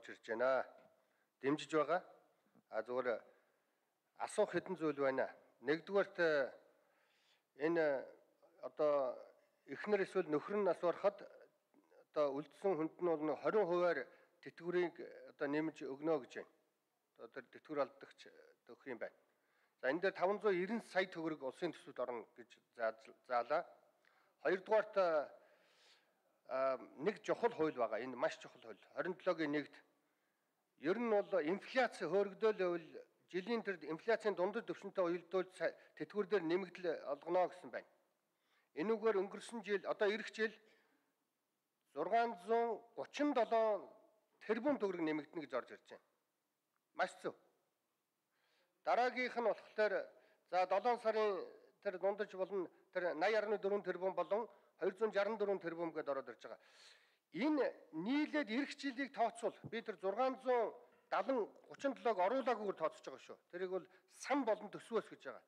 орж ирж байна. Дэмжиж байгаа. Зүгээр асуух хэдэн зүйл байна. Нэгдүгээрт энэ одоо эхнэр эсвэл нөхөр нь нас барахад одоо үлдсэн хүнд нь бол 20%-аар тэтгэврийг одоо нэмж өгнө гэж байна. Одоо тэтгэвэр алдагч өгөх юм байна. За энэ дээр 590 сая төгрөг улсын төсвөд орно гэж заалаа. Хоёрдугаарт нэг чухал хууль байгаа. Энэ маш чухал хууль. 27-гийн 1-д ер нь бол инфляци хөөргөдөөл жилийн тэр инфляцийн дундад түвшинтэй уялдуул тэтгэвэр дээр нэмэгдэл олгоно гэсэн байна. Энүүгээр өнгөрсөн жил одоо эх жил 637 тэрбум төгрөг нэмэгдэнэ гэж орж ирж байна. Маш зөв. Дараагийнх нь болохоор за 7 сарын тэр дундаж болон тэр 80.4 тэрбум болон 264 тэрбум гэдээ ороод ирж байгаа. Энэ нийлээд эх жилийг тооцвол би тэр 637-г оруулаагүйгээр тооцож байгаа шүү. Тэрийг бол сан болон төсвөөс гэж байгаа.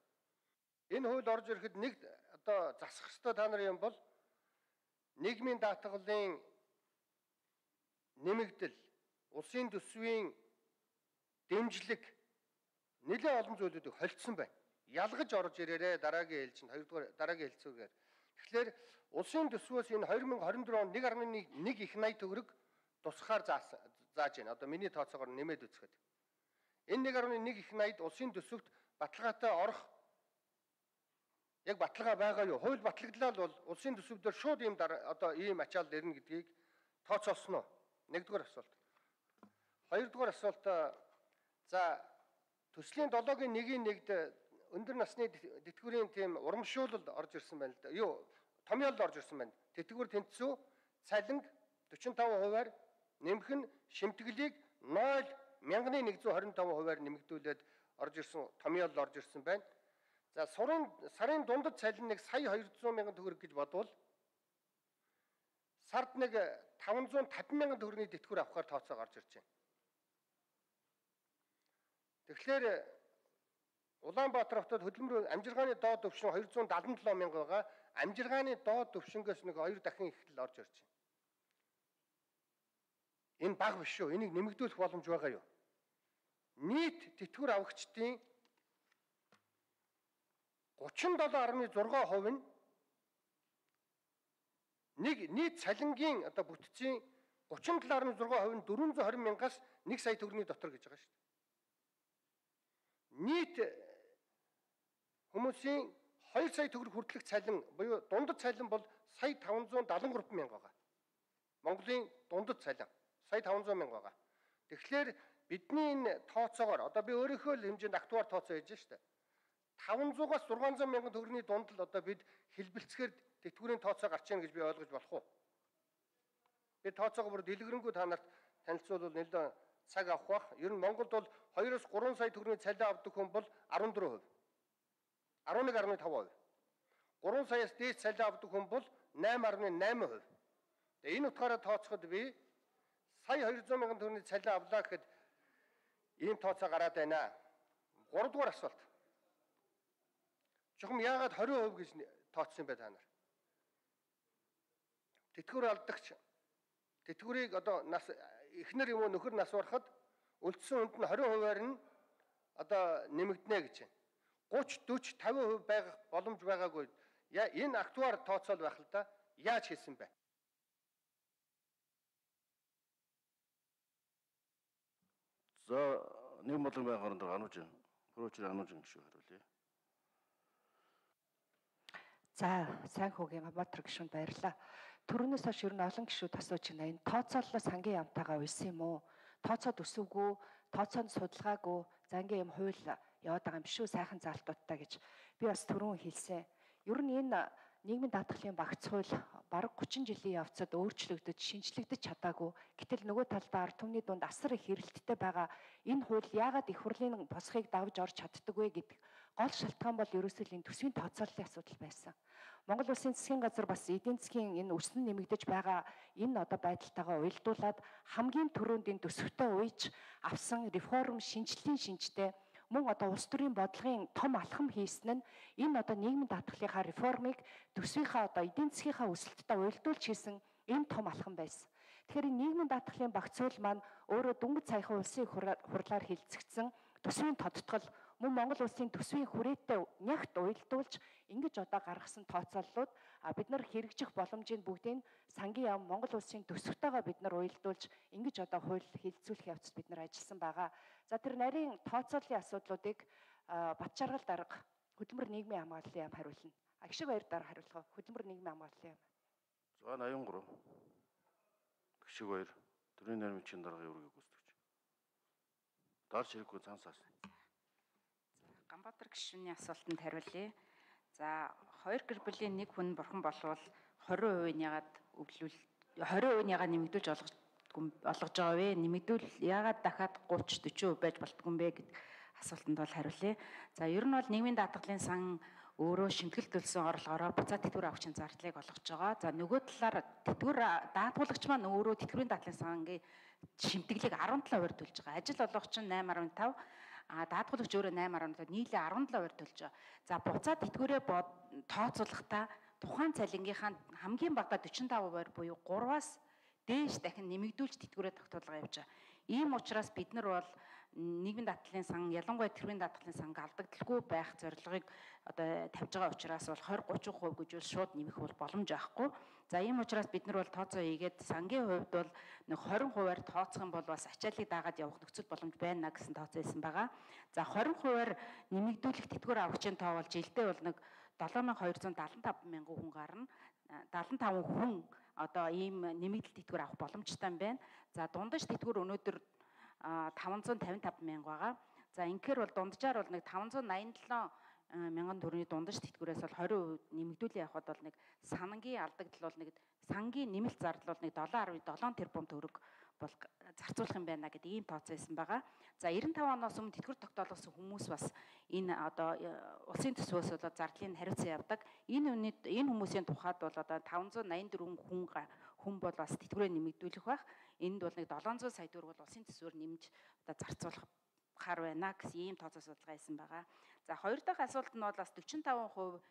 Энэ хууль орж ирэхэд нэг одоо засах ёстой та нарын юм бол нийгмийн даатгалын нэмэгдэл, улсын төсвийн дэмжлэг нэлээд олон зүйлүүдийг холдсон байна. Ялгаж орж ирээрээ дараагийн ээлжинд хоёрдугаар дараагийн хэлцүүгээр. Тэгэхээр улсын төсвөөс энэ 2024 онд 1.1 их 80 төгрөг тусахаар зааж байна. Одоо миний тооцоогоор нэмээд үзэхэд. Энэ 1.1 их 80-д улсын төсөвт баталгаатай орох яг баталгаа байгаа юу? Хууль батлагдлаа бол улсын төсөв дээр шууд ийм одоо ийм ачаал ирнэ гэдгийг тооцоолсон уу? Нэгдүгээр асуулт. Хоёрдугаар асуулт за төслийн 7-гийн 1-д өндөр насны тэтгэврийн тийм урамшуулалд орж ирсэн байна л да. Юу? Томьёолд орж ирсэн байна. Тэтгэвэр тэнцүү цалинг 45%-аар нэмэх нь шимтгэлийг 0.125%-аар нэмэгдүүлээд орж ирсэн томьёолд орж ирсэн байна. За сарын дундад цалин нэг сая 200 мянган төгрөг гэж бодвол сард нэг 550 мянган төгрөгийн тэтгэвэр авахаар тооцоо гарч ирж байна. Тэгэхээр Улаанбаатар хотод хөдөлмөр амжиргааны доод түвшин 277 мянга байгаа. Амжиргааны доод түвшингээс нэг 2 дахин их л орж ирж байна. Энэ бага биш шүү. Энийг нэмэгдүүлэх боломж байгаа юу? Нийт тэтгэвэр авагчдын 37.6% нь нэг нийт цалингийн одоо бүтцийн 37.6% нь 420 мянгаас 1 сая төгрөгийн дотор гэж байгаа шүү дээ. Нийт хүмүүсийн 2 сая төгрөг хүртэлх цалин буюу дундад цалин бол сая 573 мянга байгаа. Монголын дундад цалин сая 500 мянга байгаа. Тэгэхээр бидний энэ тооцоогоор одоо би өөрийнхөө л хэмжээнд актуар тооцоо хийж штэ. 500-аас 600 мянган төгрөгийн дунд л одоо бид хэлбэлцгээр тэтгэврийн тооцоо гарч ийн гэж би ойлгож болох уу? Би тооцоогоо бүр дэлгэрэнгүй та нарт танилцуулбал нэлээд цаг авах бах. Ер нь Монголд бол 2-оос 3 сая төгрөгийн цалин авдаг хүн бол 14%. 11.5%. 3 саяас дээш цалин авдаг хүн бол 8.8%. Тэгээ энэ утгаараа тооцоход би сая 200 мянган төгрөгийн цалин авлаа гэхэд ийм тооцоо гараад байна. 3 дугаар асуулт. Чухам яагаад 20% гэж тооцсон юм бэ та нар? Тэтгэвэр алдагч тэтгэврийг одоо нас эхнэр юм уу нөхөр нас барахад үлдсэн хүнд нь 20%-аар нь одоо нэмэгдэнэ гэж байна. 30, 40, 50% байх боломж байгаагүй. Энэ актуар тооцоол байх л да. Яаж хийсэн бэ? За нэг болон байх хооронд ануужин, прочер ануужин гişүү хариулъя. За сайн хүүгийн Гамбатар гишүүнд баярлалаа. Төрөнөөс хойш ер нь олон гишүүд асууж байна. Энэ тооцооллоос хамгийн ямтайгаа уйсан юм уу? Тооцоод өсвгүй, тооцоонд судалгаагүй, за ингээм юм хууль яваад байгаа юм биш үү? Сайхан заалтуудтай гэж би бас түрүүн хэлсэн. Ер нь энэ нийгмийн даатгалын багц хууль бараг 30 жилийн явцад өөрчлөгдөж, шинжлэгдэж чадаагүй. Гэтэл нөгөө талдаа ард түмний дунд асар их хэрэлттэй байгаа. Энэ хууль яагаад их хурлын босхийг давж орж чаддаг вэ гэдэг гол шалтгаан бол ерөөсөө энэ төсвийн тооцооллын асуудал байсан. Монгол Улсын засгийн газар бас эдийн засгийн энэ өснө нэмэгдэж байгаа энэ одоо байдалтайгаа уялдуулаад хамгийн түрүүнд энэ төсөвтөө уйж авсан реформ шинжтэй мөн одоо улс төрийн бодлогын том алхам хийсэн нь энэ одоо нийгмийн даатгалынхаа реформыг төсвийнхаа одоо эдийн засгийнхаа өсөлттэй уялдуулж хийсэн энэ том алхам байсан. Тэгэхээр энэ нийгмийн даатгалын багцуул маань өөрөө дөнгөж саяхан улсын хурлаар хилцэгдсэн төсвийн тодтгол мөн Монгол улсын төсвийн хүрээтэй нягт уялдуулж ингэж одоо гаргасан тооцооллууд бид нар хэрэгжих боломжийг бүгдийг сангийн яам Монгол улсын төсөвтэйгээ бид нар уялдуулж ингэж одоо хууль хилцүүлэх явцад бид нар ажилласан байгаа. За тэр нарийн тооцооллын асуудлуудыг Батчааргал дарга хөдөлмөр нийгмийн хамгааллын яам хариулна. Агшиг баяр дарга хариулах. Хөдөлмөр нийгмийн хамгааллын яам. 183. Гişиг баяр. Төрийн нарийн даргын үүргийг гүйцэтгэж. Дарж хэрэггүй цансаас. Ганбаатар гишүүний асуултанд хариулъя. За 2 гэр бүлийн нэг хүн бурхан болвол 20% яагаад өвлүүл 20% яагаад нэмэгдүүлж олгож байгаа вэ? Нэмэгдүүл яагаад дахиад 30 40% байж болтгүй юм бэ гэдэг асуултанд бол хариулъя. За ер нь бол нийгмийн даатгалын сан өөрөө шимтгэл төлсөн орлогоороо буцаад тэтгэвэр авахчийн зардлыг олгож байгаа. За нөгөө талаар тэтгэвэр даатгуулагч маань өөрөө тэтгэврийн даатгалын сангийн шимтгэлийг 17% төлж байгаа. Ажил олгогч нь 8.5, даатгуулагч өөрөө 8.5, нийлээ 17% төлж байгаа. За буцаад тэтгэврээ тооцоолохдоо тухайн цалингийнхаа хамгийн багадаа 45% буюу 3-аас дээш дахин нэмэгдүүлж тэтгэврээ тогтоолгоо явж байгаа. Ийм учраас бид нар бол нийгмийн даатгалын сан, ялангуяа тэтгэврийн даатгалын санг алдагдaltaгүй байх зорилгыг одоо тавьж байгаа учраас бол 20-30% гэж бол шууд нэмэх бол боломж байхгүй. За ийм учраас бид нар бол тооцоо хийгээд сангийн хувьд бол нэг 20%-аар тооцох юм бол бас ачааллыг дагаад явах нөхцөл боломж байна гэсэн тооцоо хийсэн байгаа. За 20%-аар нэмэгдүүлэх тэтгэвэр авахчийн тоо бол жилдээ бол нэг 7275 мянган хүн гарна. 75 хүн одоо ийм нэмэгдэл тэтгэвэр авах боломжтой юм байна. За дундаж тэтгэвэр өнөөдөр 555 мянга байгаа. За инхээр бол дунджаар бол нэг 587 мянган төгрөгийн дундаж тэтгэврээс бол 20% нэмэгдүүлээ явахад бол нэг сангийн алдагдал бол нэг сангийн нэмэлт зардал бол нэг 7.7 тэрбум төгрөг бол зарцуулах юм байна гэдэг ийм тооцоо хийсэн байгаа. За 95 оноос өмнө тэтгэвэр тогтоолгосон хүмүүс бас энэ одоо улсын төсвөөс бол зардлыг хариуцсан явдаг. Энэ хүмүүсийн тухайд бол одоо 584 хүн бол бас тэтгэврээ нэмэгдүүлэх байх. Энд бол нэг 700 сая төгрөг бол улсын төсвөөр нэмж одоо зарцуулахаар байна гэсэн ийм тооцоо судалгаа хийсэн байгаа. За хоёр дахь асуулт нь бол бас 45%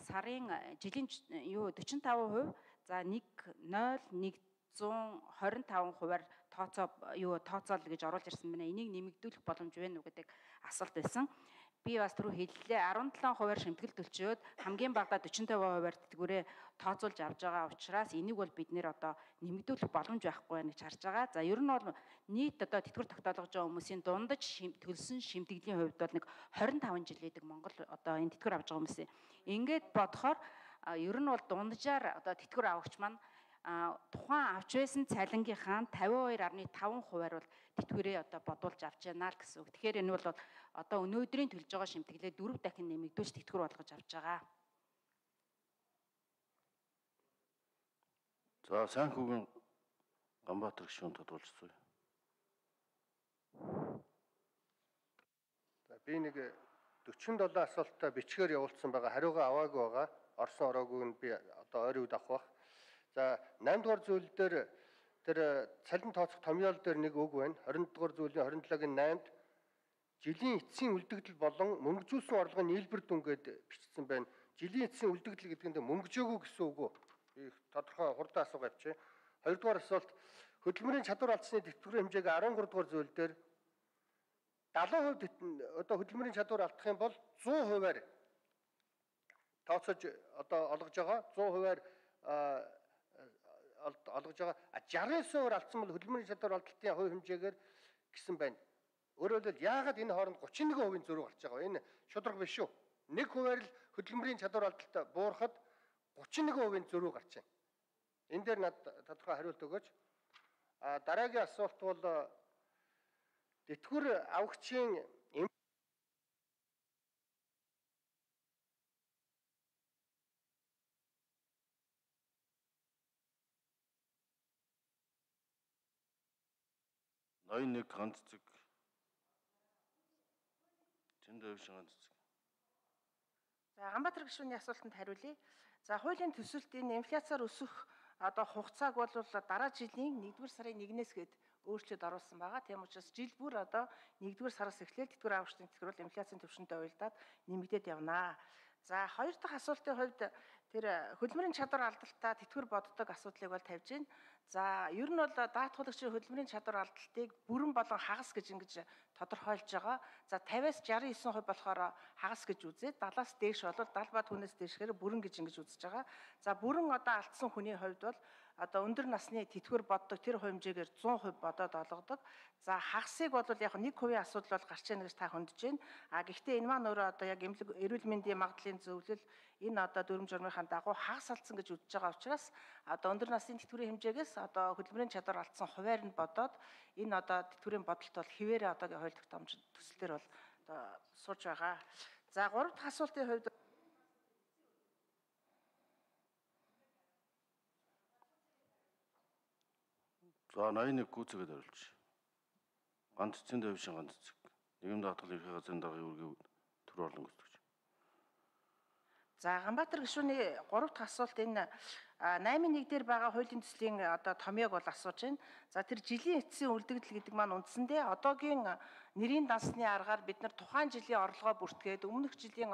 сарын жилийн 45%, за 1.0125%-аар тооцоол гэж оруулж ирсэн байна. Энийг нэмэгдүүлэх боломж байна уу гэдэг асуулт байсан. Би бас түрүү хэллээ 17%-аар шимтгэл төлчөөд хамгийн багадаа 45%-аар тэтгэврээ тооцоолж авч байгаа учраас энийг бол бид нэр одоо нэмэгдүүлэх боломж байхгүй байна гэж харж байгаа. За ер нь бол нийт одоо тэтгэвэр тогтоолгож байгаа хүмүүсийн дундаж төлсөн шимтгэлийн хувьд бол нэг 25 жил гэдэг Монгол одоо энэ тэтгэвэр авч байгаа хүмүүсийн ингээд бодохоор ер нь бол дунджаар одоо тэтгэвэр авахч маань тухайн авч байсан цалингийнхаа 52.5%-аар бол тэтгэврээ одоо бодуулж авч яана л гэсэн үг. Тэгэхээр энэ бол одоо өнөөдрийн төлж байгаа шимтгэлээ 4 дахин нэмэгдүүлж тэтгэвэр болгож авч байгаа. За Санхүүгийн Ганбаатар гишүүн тодруулцгаая. За би нэг 47 асуултаа бичгээр явуулсан байгаа. Хариугаа аваагүй байгаа. Орсон ороогүй нь би одоо ойрын үед авах. За 8 дугаар зүйл дээр тэр цалин тооцох томьёол дээр нэг үг байна. 20 дугаар зүйлийн 27-гийн 8-д жилийн эцсийн үлдэгдэл болон мөнгөжүүлсэн орлогын нийлбэр дүнгээд бичсэн байна. Жилийн эцсийн үлдэгдэл гэдэг нь мөнгөжөөгүй гэсэн үг үү? Би тодорхой хурдан асуугаа явчих. 2 дугаар асуулт хөдөлмөрийн чадвар алдсны тэтгэврийн хэмжээг 13 дугаар зүйл дээр 70% одоо хөдөлмөрийн чадвар алдах юм бол 100%-аар тооцоож одоо олгож байгаа. 100%-аар олгож байгаа. 69%-аар алдсан бол хөдөлмөрийн чадвар алдалтын хувь хэмжээгээр гэсэн байна. Өөрөөр хэлбэл яагаад энэ хооронд 31% зөрүү гарч байгаа вэ? Энэ шударга биш шүү. 1%-аар л хөдөлмөрийн чадвар алдалт буурахад 31% зөрүү гарч байна. Энэ дээр над тодорхой хариулт өгөөч. Дараагийн асуулт бол тэтгэвэр авахчийн Ноён нэг ганц цэг. Тэнд өвш ганц цэг. За Ганбаатар гишүүний асуултанд хариулъя. За хуулийн төсөлт энэ инфляциар өсөх одоо хугацааг бол дараа жилийн 1-р сарын 1-ээс гээд өөрчлөлт оруулсан байгаа. Тийм учраас жил бүр одоо 1-р сараас эхлээл тэтгэвэр авахчдын тэтгэвэр бол инфляцийн түвшинтэй уялдаад нэмэгдээд явнаа. За хоёр дахь асуултын хувьд тэр хөдөлмөрийн чадвар алдалтаа тэтгэвэр боддог асуудлыг бол тавьж байна. За ер нь бол даатгуулагчийн хөдөлмөрийн чадвар алдалтыг бүрэн болон хагас гэж ингэж тодорхойлж байгаа. За 50-аас 69% болохоор хагас гэж үзээд 70-аас дээш бол 70 ба түүнээс дээшгээр бүрэн гэж ингэж үзэж байгаа. За бүрэн алдсан хүний хувьд бол өндөр насны тэтгэвэр боддог тэр хэмжээгээр 100% бодоод олгодог. За хагасыг бол яг 1% асуудал бол гарч ийнэ гэж та хөндөж байна. Гэхдээ энэ маань өөрөө яг эрүүл мэндийн магадлалын зөвлөл энэ дүрм журмынхаа дагуу хагас алдсан гэж үзэж байгаа учраас өндөр насны тэтгэврийн хэмжээгээс хөдөлмөрийн чадвар алдсан хуваар нь бодоод энэ тэтгэврийн бодолт бол хിവэрэ хууль тогтоомж төсөлтөр бол сууж байгаа. За 3 дахь асуултын хувьд За 81 гүйцэтгэд хариулж. Ганц эцсийн дэвшин ганц эцэг. Нийгэм даатгал ерхий газрын даргын үүргийн төр орлон гүйцэтгэж. За Ганбаатар гишүүний 3 дахь асуулт энэ 8.1 дээр байгаа хуулийн төслийн томьёог бол асууж байна. За тэр жилийн эцсийн үлдэгдэл гэдэг маань үндсэндээ одоогийн нэрийн дансны аргаар бид нар тухайн жилийн орлогоо бүртгээд өмнөх жилийн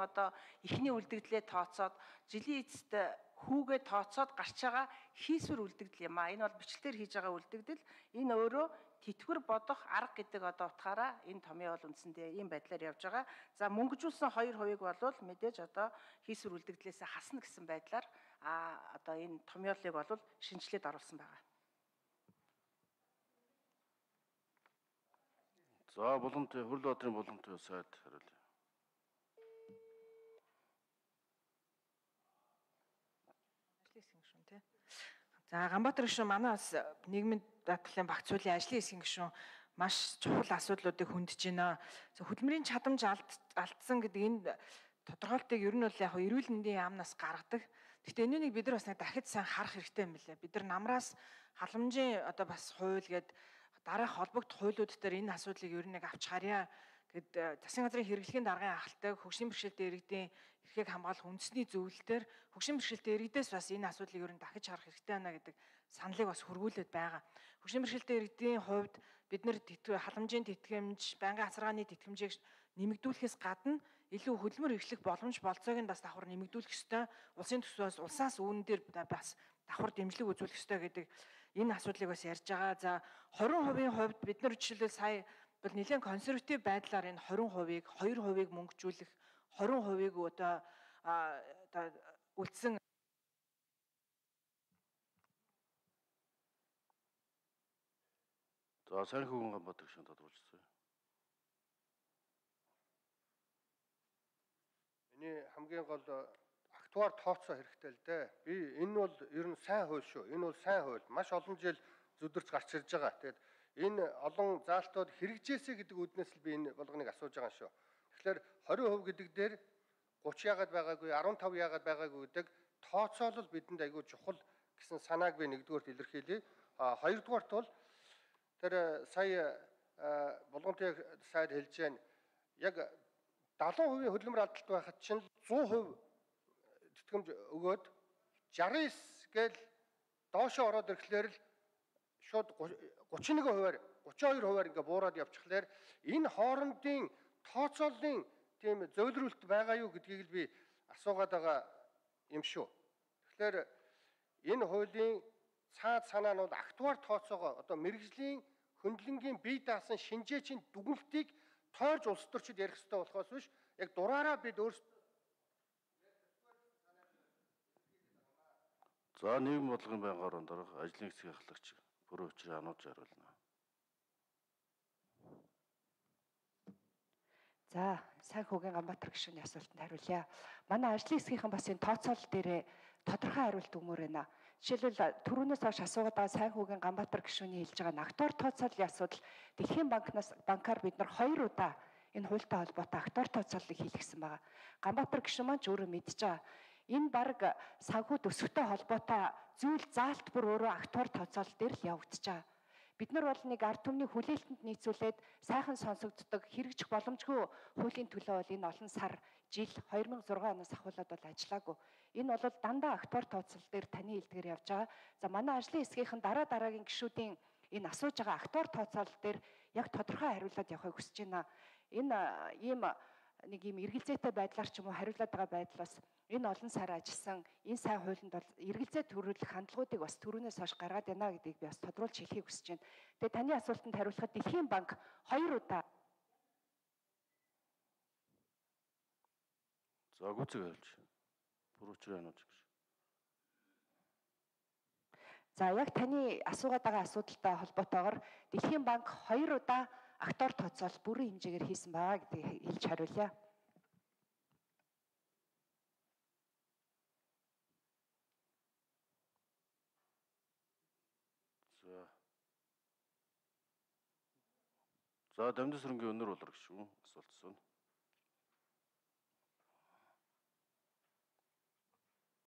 эхний үлдэгдлээ тооцоод жилийн эцэст хүүгээ тооцоод гарч байгаа хийсвэр үлдэгдэл юм а. Энэ бол бичлэлээр хийж байгаа үлдэгдэл. Энэ өөрөө тэтгэвэр бодох арга гэдэг утгаараа энэ томьёо бол үндсэндээ ийм байдлаар явж байгаа. За мөнгөжүүлсэн 2% бол мэдээж хийсвэр үлдэгдлээс хасна гэсэн байдлаар энэ томьёолыг бол шинжилээд оруулсан байгаа. За Булантай Хөрлөбаатарын Булантай сайд хариулъя. За Ганбаатар гишүүн манай бас нийгмийн даатгалын багц хуулийн ажлын хэсгийн гишүүн маш чухал асуудлуудыг хөндөж байна. Хөдөлмөрийн чадамж алдсан гэдэг энэ тодорхойлтыг ер нь бол яг эрүүл мэндийн яамнаас гаргадаг. Гэхдээ энэнийг бид нар бас дахид сайн харах хэрэгтэй юм билээ. Бид нар намраас халамжийн бас хууль гээд дараах холбогдох хуулиуд дээр энэ асуудлыг ер нь авч харъя гэд засгийн газрын хэрэглэхийн даргын ахалтай хөгжлийн бэрхшээлтэй иргэдийн эрхийг хамгаалах үндэсний зөвлөлтөөр хөгжлийн бэрхшээлтэй иргэдээс бас энэ асуудлыг ер нь дахиж харах хэрэгтэй байна гэдэг саналыг бас хөрвүүлээд байгаа. Хөгжлийн бэрхшээлтэй иргэдийн хувьд бид нар халамжийн тэтгэмж, байнгын хацаргааны тэтгэмжийг нэмэгдүүлэхээс гадна илүү хөдөлмөр эрхлэх боломж болцоог нь бас давхар нэмэгдүүлэх ёстой. Улсын төсвөөс улсаас үүн дээр бас давхар дэмжлэг үзүүлэх ёстой гэдэг энэ асуудлыг бас ярьж байгаа. За 20% хувьд бид нар жишээлбэл сая бол нэлээд консерватив байдлаар энэ 20%-ийг 2%-ийг мөнгөжүүлэх 20%-ийг үлдсэн За сайн хүүгэн Ганбаатар гишүүн тодруулчихсан. Миний хамгийн гол актуар тооцоо хэрэгтэй л дээ. Би энэ бол ер нь сайн хууль шүү. Энэ бол сайн хууль. Маш олон жил зүдэрч гарч ирж байгаа. Тэгээд энэ олон заалтууд хэрэгжээсэй гэдэг үднээс л би энэ болгоныг асууж байгаа шүү. Тэгэхээр 20% гэдэг дээр 30 яагаад байгаагүй, 15 яагаад байгаагүй гэдэг тооцоолол бидэнд айгүй чухал гэсэн санааг би нэгдүгээрт илэрхийлье. Хоёрдугаарт бол тэр сая болгонтой сайд хэлж байна. Яг 70% хөдөлмөр алдалт байхад чинь 100% тэтгэмж өгөөд 69 гээл доошоо ороод ирэхлээр л шууд 31%-аар 32%-аар ингээ буураад явчихлаар энэ хоорондын тооцооллын тийм зөвлөрөлт байгаа юу гэдгийг л би асуугаад байгаа юм шүү. Тэгэхээр энэ хуулийн цаад санаа нь бол актуар тооцоогоо мэрэгжлийн хөндлөнгийн бие даасан шинжээчийн дүгнэлтийг тойрж улс төрчид ярих хэрэгтэй болохоос биш яг дураараа бид өөрсдөө За нийгэм бодлогын байнгын орон дарга ажлын хэсгийн ахлагч бүрэн учрын анууж хариулна. За сайн хүүгийн Ганбаатар гишүүний асуултанд хариулъя. Манай ажлын хэсгийнхэн бас энэ тооцоолол дээрээ тодорхой хариулт өгмөр байна. Жишээлбэл түрүүнээс хойш асуугаад байгаа сайн хүүгийн Ганбаатар гишүүний хэлж байгаа актуар тооцооллын асуудал Дэлхийн банкаар бид нар 2 удаа энэ хуультай холбоотой актуар тооцооллыг хийлгэсэн байгаа. Ганбаатар гишүүн маань ч өөрөө мэдж байгаа. Энэ бараг санхүү төсөвтэй холбоотой зүйл заалт бүр өөрөө актуар тооцоолол дээр л явагдаж байгаа. Бид нар бол нэг ард түмний хүлээлтэнд нийцүүлээд сайхан сонсогддог хэрэгжих боломжгүй хуулийн төлөө бол энэ олон сар жил 2006 оноос ахуулаад бол ажиллаагүй. Энэ бол дандаа актуар тооцоолол дээр таны хэлдгээр явж байгаа. За манай ажлын хэсгийнхэн дараагийн гишүүдийн энэ асууж байгаа актуар тооцоолол дээр яг тодорхой хариулаад явахыг хүсэж байна. Энэ ийм нэг юм эргэлзээтэй байдлаар ч юм уу хариулаад байгаа байдлаас энэ олон сар ажилласан энэ сайн хуулинд бол эргэлзээ төрүүлэх хандлагуудыг бас түрүүнээс хойш гаргаад байна гэдгийг би бас тодруулж хэлхийг хүсэж байна. Тэгээ таны асуултанд хариулахад Дэлхийн банк 2 удаа За гүцэг хэлж. Бүр учраа анууч гэж. За яг таны асуугаад байгаа асуудалтай холбоотойгоор Дэлхийн банк 2 удаа актуар тооцоол бүрэн хэмжээгээр хийсэн байгаа гэдгийг хэлж хариулъя. За Дамжин сүрэнгийн өнөр болор гişүүн асуулт асууна.